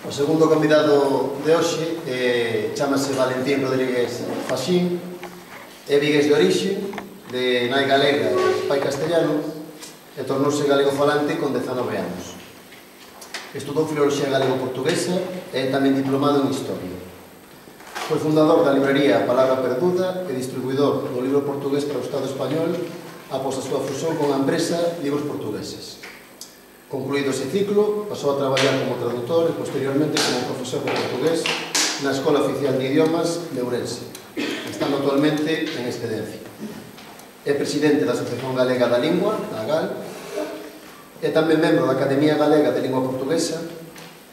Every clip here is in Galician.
O segundo convidado de hoxe chamase Valentín Rodríguez Faxín, é vigués de orixe, de nai galega e pai castellano, e tornouse galego falante con 19 anos. Estudou filoloxía galego-portuguesa e é tamén diplomado en Historia. Foi fundador da librería Palabra Perduda e distribuidor do libro portugués para o Estado español após a súa fusión con a empresa Libros Portugueses. Concluído ese ciclo, pasou a traballar como traductor e posteriormente como profesor de portugués na Escola Oficial de Idiomas de Ourense, estando actualmente en excedencia. É presidente da Asociación Galega da Lingua, a AGAL, é tamén membro da Academia Galega de Lingua Portuguesa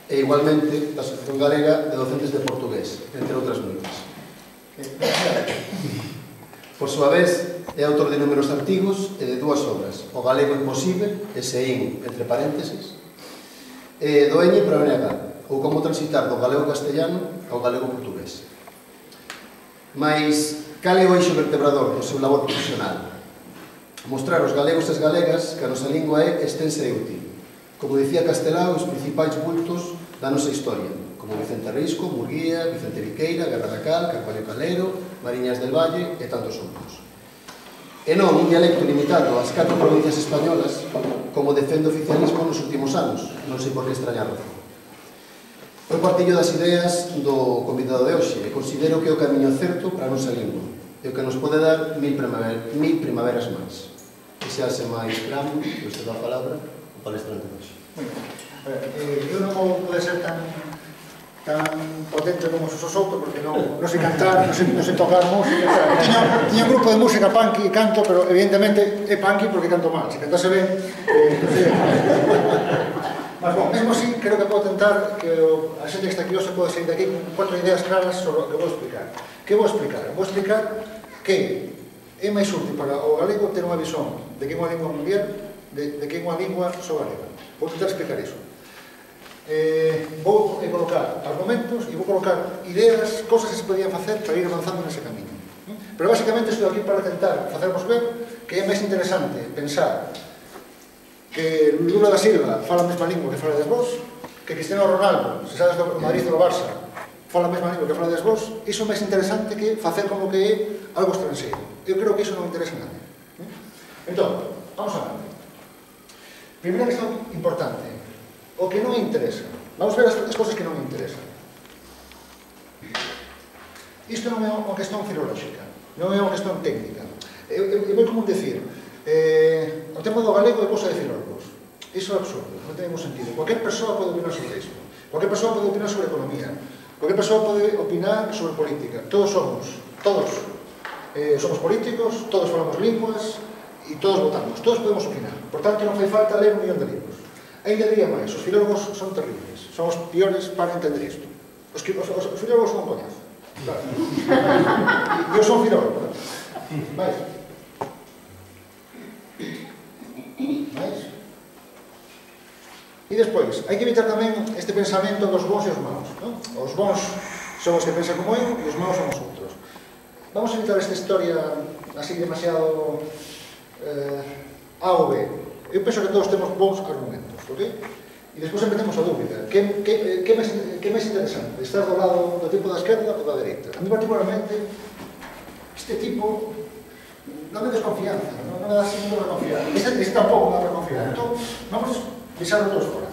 e igualmente da Asociación Galega de Docentes de Portugués, entre outras moitas. Por súa vez, é autor de numerosos artigos e de dúas obras, O galego imposible, SEIN, entre paréntesis, e Doeñe para o NH, ou Como transitar do galego castellano ao galego portugués. Mais, cal é o eixo vertebrador do seu labor profesional? Mostrar aos galegos e as galegas que a nosa lingua é extensa e útil. Como dicía Castelao, os principais bultos da nosa historia, como Vicente Risco, Murguía, Vicente Viqueira, Guerra da Cal, Carballo Calero, Mariñas del Valle e tantos outros. E non un dialecto limitado ás 4 provincias españolas, como defende o oficialismo nos últimos anos, non sei por que extrañar razón. Eu partillo das ideas do convidado de hoxe e considero que é o camiño certo para a nosa lingua e o que nos pode dar mil primaveras máis. E se hace máis gramo, que usted dá a palabra, o palestrante de hoxe. Eu non vou poder ser tan potente como se soto, porque non sei cantar, non sei tocar música. Tiña un grupo de música punk e canto, pero evidentemente é punk porque canto mal. Se cantase ben, non sei. Mas, bom, mesmo así, creo que podo tentar que a xente que está aquí hoxe pode sair daqui con 4 ideas claras sobre o que vou explicar. Que vou explicar? Vou explicar que é máis útil para o galego ter unha visón de que é unha lingua mundial, de que é unha lingua só galega. Vou tentar explicar iso. Vou colocar argumentos e vou colocar ideas, cosas que se podían facer para ir avanzando nese camiño. Pero basicamente estou aquí para tentar facervos ver que é máis interesante pensar que Lula da Silva fala a mesma lingua que fala vos, que Cristiano Ronaldo, se sabes do Madrid ou do Barça, fala a mesma lingua que fala vos. Iso é máis interesante que facer como que é algo estranxeiro. Eu creo que iso non interesa a nadie. Entón, vamos a ver. Primeira questão importante, o que non interesa. Vamos ver as cosas que non interesan. Isto non é unha questón filolóxica, non é unha questón técnica. É moi común decir, o tema do galego é cousa de filólogos. Iso é absurdo, non ten ningún sentido. Cualquier persoa pode opinar sobre isto. Cualquier persoa pode opinar sobre economía. Cualquier persoa pode opinar sobre política. Todos somos políticos, todos falamos linguas e todos votamos. Todos podemos opinar. Por tanto, non fai falta ler 1 millón de libros. Ainda diría máis, os filólogos son terribles. Son os piores para entender isto. Os filólogos son un coñazo. Claro. Eu son filólogo. Mais? E despois, hai que evitar tamén este pensamento dos bons e os maus. Os bons son os que pensan como eu e os maus son os outros. Vamos a evitar esta historia así demasiado A ou B. Eu penso que todos temos bons argumentos, ok? E despois empecemos a dúbida. Que é máis interesante? Estar do lado do tipo da esquerda ou da dereita? A mí particularmente, este tipo non me desconfianza, non me dá signo de confianza. Este tampouco me dá para confiar. Entón, vamos pisar todos fora.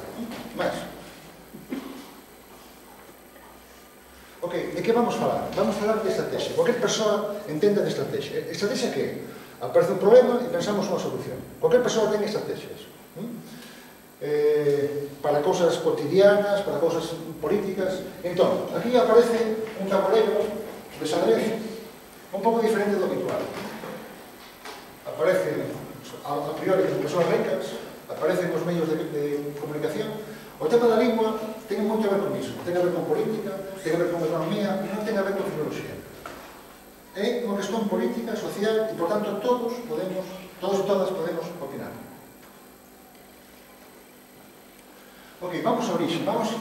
Mais. Ok, de que vamos falar? Vamos falar de estrategia. Cualquier persoa entende de estrategia. Estrategia que? Aparece un problema e pensamos unha solución. Cualquier persoa ten estrategias. Para cousas cotidianas, para cousas políticas. Entón, aquí aparece un tabuleiro de xadrez un pouco diferente do habitual. Aparecen, a priori, as persoas ricas, aparecen os medios de comunicación. O tema da lingua ten moito a ver con iso. Ten a ver con política, ten a ver con economía, e non ten a ver con filoloxía. É unha questón política, social, e, por tanto, todos e todas podemos opinar. Ok, vamos a orixe, vamos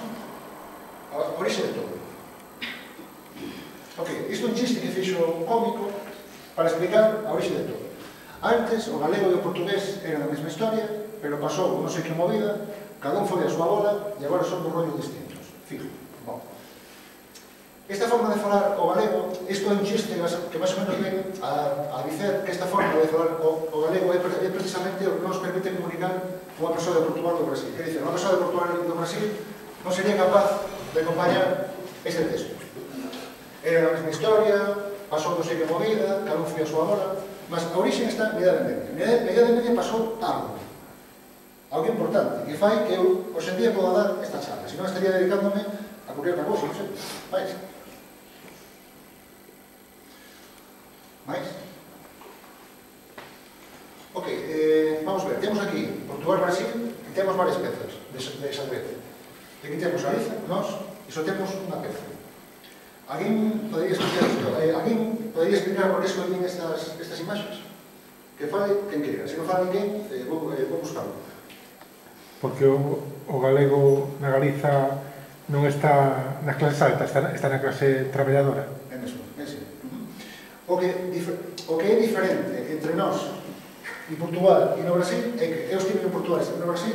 a orixe de todo. Ok, isto é un chiste que fixo un cómico para explicar a orixe de todo. Antes, o galego e o portugués eran a mesma historia, pero pasou non sei que movida, cada un foi a súa bola e agora son dos rollos distintos. fijo. Bom. Esta forma de falar o galego, isto é un chiste que máis ou menos ven a dicer que esta forma de falar o galego é precisamente o que nos permite comunicar con unha persoa de Portugal do Brasil. Quer dizer, unha persoa de Portugal do Brasil non sería capaz de acompañar este texto. Era a mesma historia, pasou non sei que movida, cada un foi a súa bola, mas a origen está na Idade Media. Na Idade Media pasou algo importante, que fai que eu, hoxe en día, poda dar esta charla. Se non estaría dedicándome a cualquier outra cousa, non sei. Mais? Ok, vamos ver, temos aquí Portugal-Brasil e temos varias pezas de xadrez. Aquí temos Galiza, nós, e só temos unha peza. Alguén podería explicar isto? Alguén podería explicar por que escollen estas imaxes? Que fale quen queira. Se non fala ninguén, vou buscarlo. Porque o galego na Galiza non está nas clases altas, está na clase traballadora. É mesmo, é así. O que é diferente entre nós e Portugal e no Brasil é que eu estive en Portugal e estive no Brasil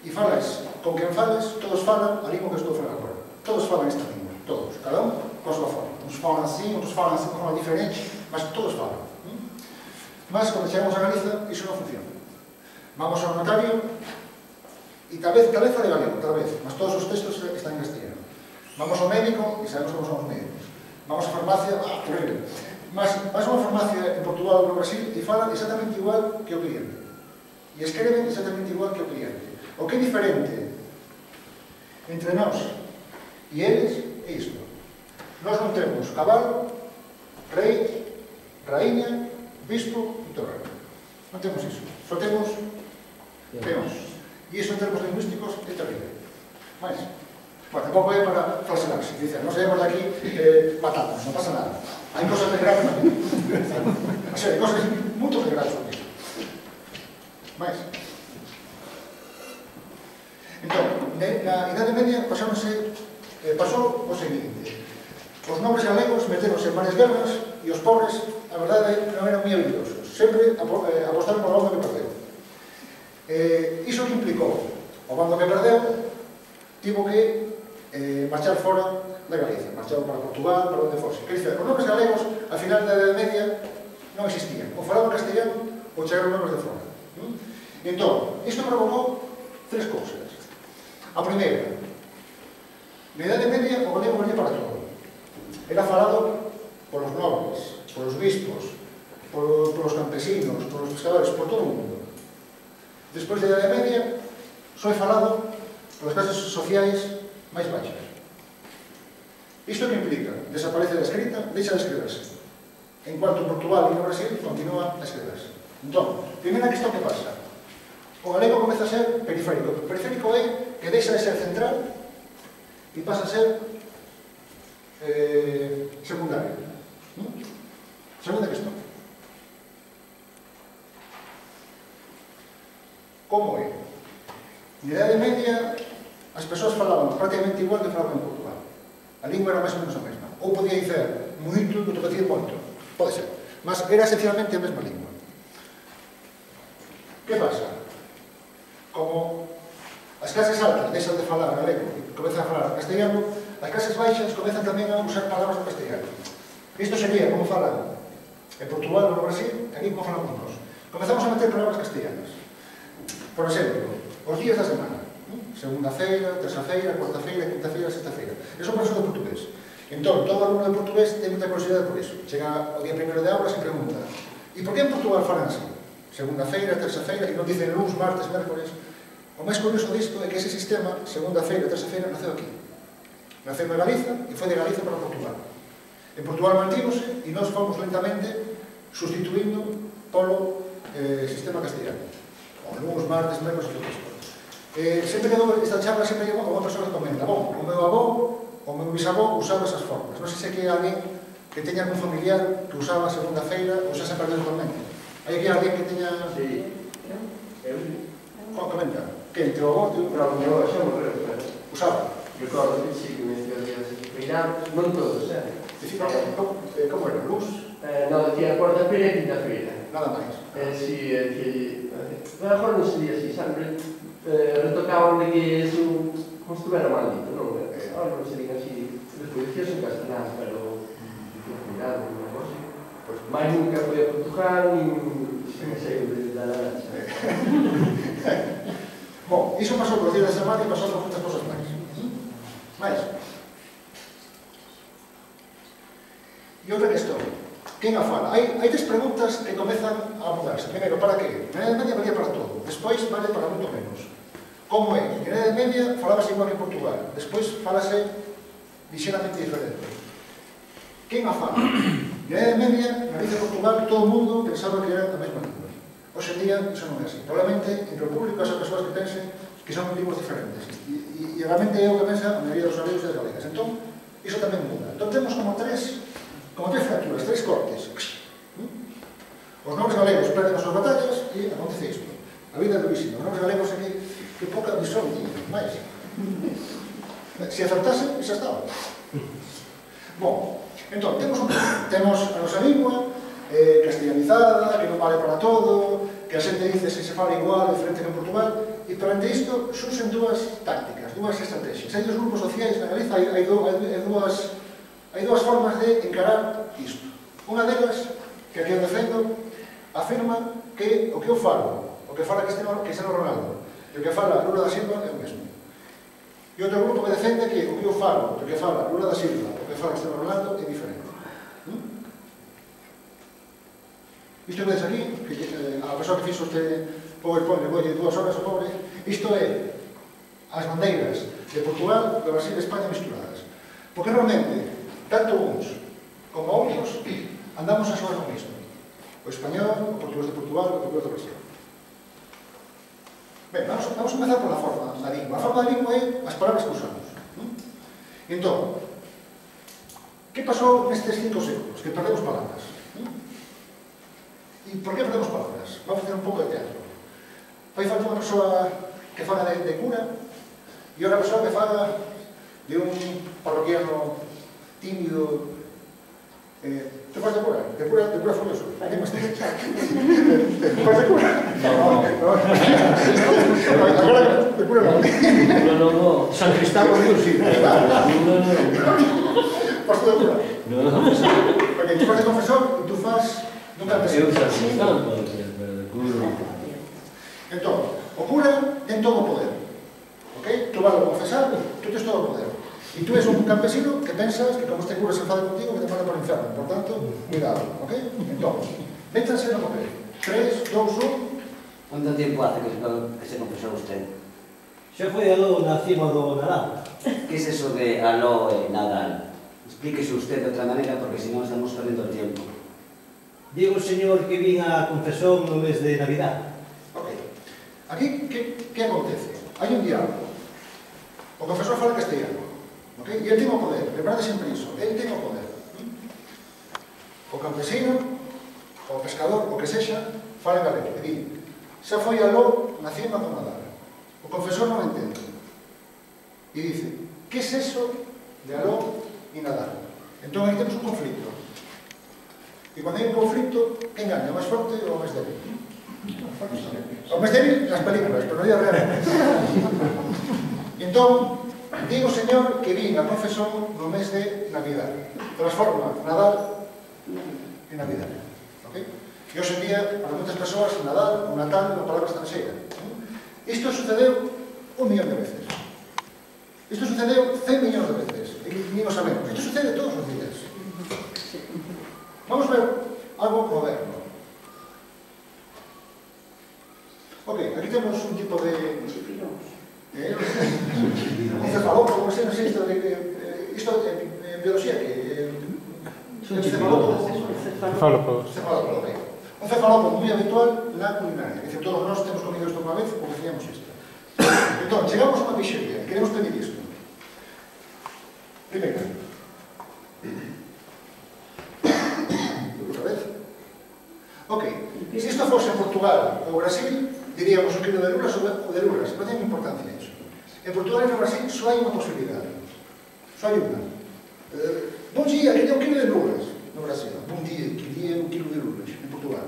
e falas, con quen falas, todos falan a lingua que estou a falar agora. Todos falan esta lingua, todos, cada un con a súa forma. Uns falan así, outros falan así, con forma diferente, mas todos falan. Mas, quando chegamos a Galiza, iso non funciona. Vamos ao notario e tal vez fale galego, tal vez, mas todos os textos están en castellano. Vamos ao médico e sabemos como son os médicos. Vamos á farmacia, horrible. Mas vas a unha farmacia en Portugal ou no Brasil e falan exactamente igual que o cliente. E escreven exactamente igual que o cliente. O que é diferente entre nós e eles é isto. Nós non temos cabalo, rei, raíña, bispo e torre. Non temos iso. Só temos peóns. E iso en termos lingüísticos é terrible. Mais? Bueno, tampouco é para falsearse. Dicen, non saímos de aquí patatas, non pasa nada. Hai cosas de grave na vida. O sea, hai cosas moito de grave na vida. Mais? Entón, na Idade Media pasou o seguinte. Os nobres galegos meteronse en varias guerras e os pobres, a verdade, non eran moi habilidosos. Sempre apostaron por o bando que perdeu. Iso que implicou? O bando que perdeu tivo que marchar fora da Galiza, marchou para Portugal, para onde fose. Quer dizer, os nobres galegos, a final da Idade Media, non existían. O falaban castellano ou chegaron nobres de fora. Entón, isto provocou tres cousas. A primeira, na Idade Media, o galego valía para todo. Era falado polos nobles, polos bispos, polos campesinos, polos pescadores, por todo o mundo. Despois da Idade Media, só é falado polas clases sociais máis baixas. Isto que implica? Desaparece da escrita, deixa de escribirse. En cuanto Portugal e no Brasil, continúa a escribirse. Entón, primeira questão que pasa. O galego comeza a ser periférico. O periférico é que deixa de ser central e pasa a ser secundario. Segunda questão. Como é? Na Idade Media, as persoas falaban prácticamente igual que falaban en Portugal. A lingua era máis ou menos a mesma. Ou podía dizer moito, ou podía dizer moito. Pode ser. Mas era esencialmente a mesma lingua. Que pasa? Como as clases altas deixan de falar galego e comezan a falar castellano, as clases baixas comezan tamén a usar palabras do castellano. Isto sería como falan en Portugal ou no Brasil, aquí como falamos nós. Comezamos a meter palabras castellanas. Por exemplo, os días da semana. Segunda-feira, terça-feira, cuarta-feira, quinta-feira, sexta-feira. Eso por eso do portugués. Entón, todo alumno de portugués ten moita curiosidade por iso. Chega o día primeiro de aulas e pregunta: e por que en Portugal falan así? Segunda-feira, terça-feira, e non dicen luns, martes, mércores. O máis curioso disto é que ese sistema, segunda-feira, terça-feira, naceu aquí. Naceu en Galiza e foi de Galiza para Portugal. En Portugal mantívose e nós fomos lentamente sustituindo polo sistema castellano. O luns, martes, mércores e todo isto. Sempre que dou esta charla, sempre llevo a unha persoa que comenta: bom, o meu avó, o meu bisavó usaba esas formas. Non sei se hai alguén que teña algún familiar que usaba segunda-feira ou xa se perdeu totalmente. Hai aquí alguén que teña... Sí. Comenta. Que entre o avó e o meu xa morreu, pero... usaba. Recordo que sí, que me decía feirados, non todos, Como era? Luz? Non, decía cuarta-feira e quinta-feira. Nada máis. Si, mejor non sería así, sempre retocaban de que eso, como estuvera mal dito, non? Non serían así, despois dicías en castelán, pero cuidado, unha cosa. Mais nunca foi a Portugal, nin sei da Laracha. Bom, iso pasou por días de semana e pasou por moitas cosas máis. Mais. E outra cuestión. Quen a fala? Hai tres preguntas que comezan a mudarse. Primeiro, para que? Na Idade Media valía para todo. Despois vale para moito menos. Como é? Na Idade Media falábase igual que en Portugal. Despois falase lixeramente diferente. Quen a fala? Na Idade Media, na Galicia de Portugal, todo o mundo pensaba que era a mesma lingua. Hoxe en día, iso non é así. Probablemente, entre o público, as persoas que pensen que son linguas diferentes. E realmente é o que pensa a maioría dos galegos e das galegas. Entón, iso tamén muda. Entón, temos como tres fracturas, tres cortes. Os nobres galegos perden as súas batallas e acontece isto. A vida é durísima. Os nobres galegos é que pouca visión tiña, máis. Se acertase, xa estaba. Bom, entón, temos a nosa lingua castellanizada, que non vale para todo, que a xente dice se fala igual, diferente que en Portugal, e perante isto surxen dúas tácticas, dúas estrategias. Hai dos grupos sociais na Galiza, hai dúas formas de encarar isto. Unha delas, que aquí eu defendo, afirma que o que eu falo, o que fala Cristiano Ronaldo, e o que fala Lula da Silva é o mesmo. E outro grupo que defende que o que eu falo, o que fala Lula da Silva, o que fala Cristiano Ronaldo é diferente. Isto que vedes aquí, a persoa que fixo este PowerPoint, volle 2 horas ao pobre, isto é as bandeiras de Portugal, de Brasil e España misturadas. Porque realmente, tanto uns como outros, andamos a xogar no mismo. O español, o portugués de Portugal, o portugués de Brasil. Ben, vamos a comenzar pola forma da lingua. A forma da lingua é as palabras que usamos. Entón, que pasou nestes 5 séculos? Que perdemos palabras. E por que perdemos palabras? Vamos a facer un pouco de teatro. Vai falta unha persoa que fala de cura e outra persoa que fala de un parroquiano tímido. Te faz de cura? De cura furioso? ¿Qué más te? ¿Te faz de cura? No. Agora, de cura non. No. San Cristóbal Dios, sí. No. Faz de cura? No. Porque tú faz de confesor e tú faz dun campesino. Eu San Cristóbal, pero de cura. Entón, o cura ten todo o poder. Ok? Tú vas a confesar, tú tens todo o poder. E tú és un campesino que pensas que como este cura se enfada contigo que te manda para o inferno. Por tanto, cuidado, ok? Entón, métanse no papel. 3, 2, 1... ¿Cuánto tiempo hace que se confesó usted? Xa foi aló na cima do Nadal. ¿Qué es eso de aló e Nadal? Explíquese usted de otra manera porque si no estamos perdiendo el tiempo. Digo, señor, que vin a confesión no mes de Navidad. Ok. Aquí, que acontece? Hai un diálogo. O confesor fala castellano. Ok? E ele ten o poder. Lembrade sempre iso. Ele ten o poder. O campesino, o pescador, o que sexa, fala en galego. E di, xa foi aló na cima do Nadal. O confesor non entende. E dice, que es eso de aló e Nadal? Entón, aí temos un conflito. E cando hai un conflito, quen gaña? O máis forte ou o máis débil? O máis débil nas películas, pero non é real. Entón, digo, señor, que vin a confesión no mes de Navidad. Transforma Nadal en Navidad. Okay? E hoxe en día, para moitas persoas, Nadal ou Natal é unha palabra estranxeira. Isto sucedeu 1 millón de veces. Isto sucedeu 100 millóns de veces. E ni o sabemos. Isto sucede todos os días. Vamos ver algo moderno. Ok, aquí temos un tipo de... un cefalópodo, non sei isto en biología que... un cefalópodo, ok. Un cefalópodo moi habitual na culinaria. Dice, todos nós temos comido isto unha vez ou decíamos isto. Entón, chegamos a unha pixería, queremos pedir isto. Primeiro. Outra vez. Ok, se isto fose en Portugal ou Brasil, diríamos o quilo de luras ou de luras, non ten importancia iso. En Portugal e no Brasil só hai unha posibilidade. Só hai unha. Bon día, quería un quilo de luras no Brasil. Bon día, quería un quilo de luras en Portugal.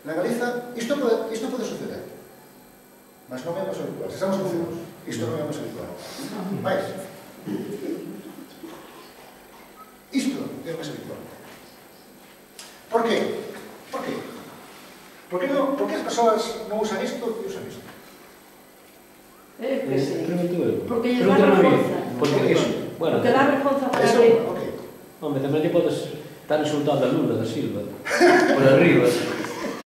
Na Galiza, isto pode suceder. Mas non é máis habitual. Se estamos confusos. Isto non é o máis habitual. Mais. Isto é o máis habitual. Por qué? Por qué? Por que as persoas non usan isto e usan isto? Que sí. Pregunto eu. Porque lles dá vergonza. Porque iso, bueno, Porque dá vergonza para Eso, abrir. ok. home, tamén te podes estar insultando a Lula da Silva por arriba.